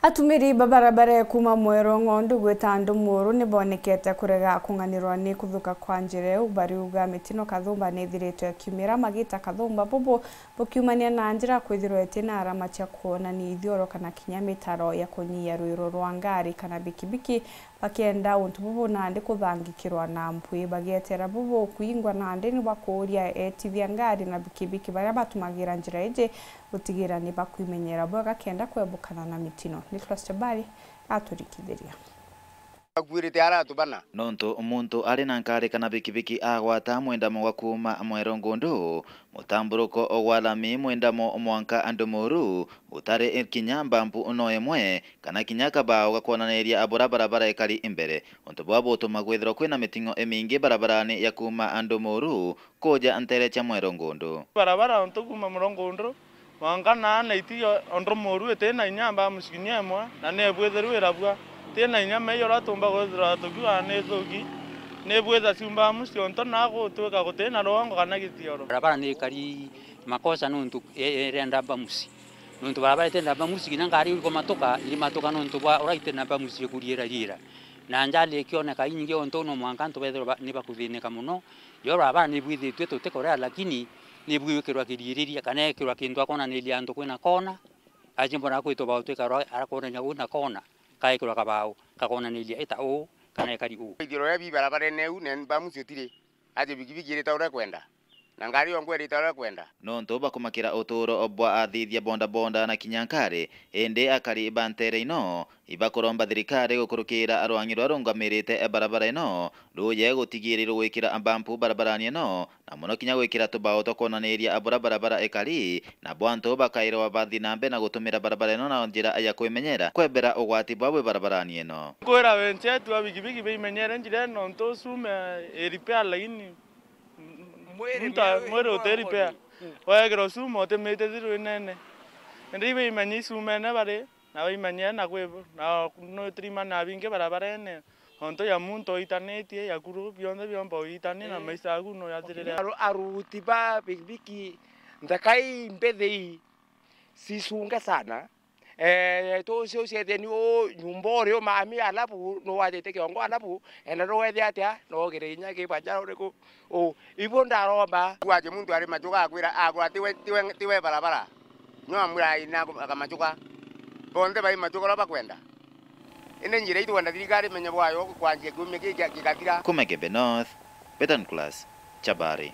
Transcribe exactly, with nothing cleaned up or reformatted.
Atumiri ba barabara ya kuuma Mwero Ng'ondu gwita Ndumuru ni bonekete kurega kung'anirwa ni kuthuka kwa njira iu, bariuga mitino kathumba ni ithiritwe ikiumira magita kathumba bubu bukiumania na njira kwithirwa itina arama cia kuonania ithioro kana kinya mitaro ya kunyia rwiro rwa ngari kana bikibiki, bakienda untu bubu nandi kuthangikirwa na mpwi. Bagietera bubu kwingwa nandi ni bakuuria etithia ngari na bikibiki baria batumagira njira iji gutigira ni bakwimenyera bwega kenda kwebukana na mitino. Nicholas Chabari aturikithiria. Akuirite aratu bana. Nontu muntu ari na nkari kana bikibiki agwata mwendamo gwa kuuma Mwero Ngundu, mutamburuko gwa lami mwendamo mwanka Ndumuru, gutari kinya mbampu no imwe, kana kinya kabao ga kwonaniria bura barabara ikari imbere. Untu bwa butuma kwithirwa kwina miting'o imingi barabarani ya kuuma Ndumuru kuja ntere cia Mwero Ngundu. Barabara untu kuuma Mwero Ngundu mwanka na na iti yo Ndumuru iti na inya mbamu cikinya imwe, na ni ibwithirwe irabua. Iti na inya mei uria tumba kwithirwa tukiuga ni ithuki, ni ibwitha ciumba mucio untu na gutwika guti na rwongo kana gitioro. Barabara ni ikari makosa nontu i-, irenda mbamusi. Nontu barabara itenda mbamusi, kinya ngari irikumatuka, irimatuka nontu bwa uria itenda mbamusi ikuriira riira. Na njali ikioneka inyingi untu no mwanka antu bethirwa ba-, ni bakuthinika mono. Yo barabara ni ibwithitue tutikorea, lakini ni ibwikirwa kiriiriria kana ekirwa kintu akonaniria antu kwina kona. Aje mbona kwitwa bautwika rwa arakonania una kona, kaekirwa kabao kakonaniria ita uu kana ikari uu. Ithiro ria bi barabarene iu, ne mbamusi utiri. Aje bikibiki irita uria kwenda, na ngari yongwa irita uria kwenda. Nontu bakumakira uturo bwa athithia bodaboda na kinya nkari, indi akari ba ntere ino ibakuromba thirikari gukurukira rwang'i ruria rungamirite barabara ino ruje gutigirirwa gwikira mbampu barabarani ino, na mono kinya gwikira tubao twa kwonaniria bura barabara ikari, nabo antu bakairwa bathi na mbere na gutumira barabara ino na njira ya kwimenyera kwebera ugwati bwa bwi barabarani ino. Nkwira wenzetu a bikibiki baimenyere njira ino, nontu cume i repair laini. Mwiri muntu a-, mwiri uti repair. Wegirwa cume utimite thiru inene. Indi ibaimenye icumene bari, na baimenye na kwi, na nutirimana bingi barabarene. Nontu ya muntu oitanitie, ya kuru, bionthe biomba oitania na maisha aku no yathirire. Aru-, aruti ba bikibiki, nthaka ii mbithi ii, cicunge sana. Eh, tucio cietheni u nyumba uri u mami, alafu nuwajite kiongo, alafu enda nuwethe atia, nogire inya kibanja uriku? U, ibu ndaromba. Waje muntu ari machuka akwira, agwa tiwe, tiwe, tiwe barabara. No amwira ina akamachuka. Bonthe bai machuka uria bakwenda. Indi njira ii twenda thirikari imenye bwayo kwanjia kiumia giki gigathira. Kuma Igembe North, Betan Class, Chabari.